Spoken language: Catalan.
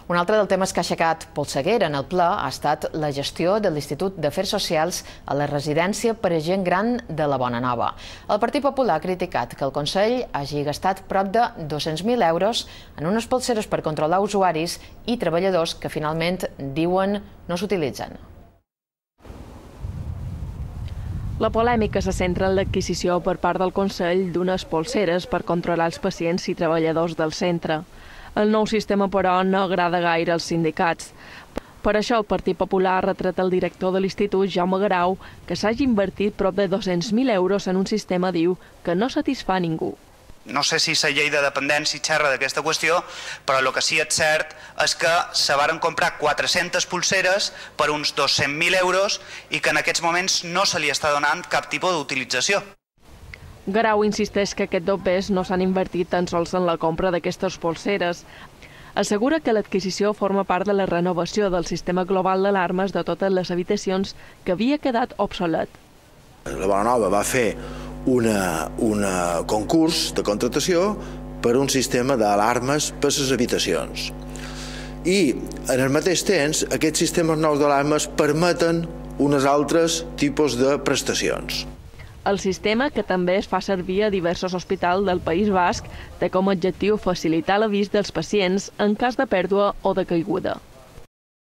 Un altre dels temes que ha aixecat polseguera en el ple ha estat la gestió de l'Institut d'Afers Socials a la residència per a gent gran de la Bonanova. El Partit Popular ha criticat que el Consell hagi gastat prop de 200.000 euros en unes polseres per controlar usuaris i treballadors que finalment diuen no s'utilitzen. La polèmica se centra en l'adquisició per part del Consell d'unes polseres per controlar els pacients i treballadors del centre. El nou sistema, però, no agrada gaire als sindicats. Per això el Partit Popular ha retret al director de l'Institut, Jaume Garau, que s'hagi invertit prop de 200.000 euros en un sistema, diu, que no satisfà ningú. No sé si la llei de dependència xerra d'aquesta qüestió, però el que sí és cert és que se varen comprar 400 pulseres per uns 200.000 euros i que en aquests moments no se li està donant cap tipus d'utilització. Garau insisteix que aquests dobbers no s'han invertit tan sols en la compra d'aquestes polseres. Assegura que l'adquisició forma part de la renovació del sistema global d'alarmes de totes les habitacions que havia quedat obsolet. La Bonanova va fer un concurs de contractació per un sistema d'alarmes per les habitacions. I en el mateix temps aquests sistemes nous d'alarmes permeten uns altres tipus de prestacions. El sistema, que també es fa servir a diversos hospitals del País Basc, té com a objectiu facilitar l'avís dels pacients en cas de pèrdua o de caiguda.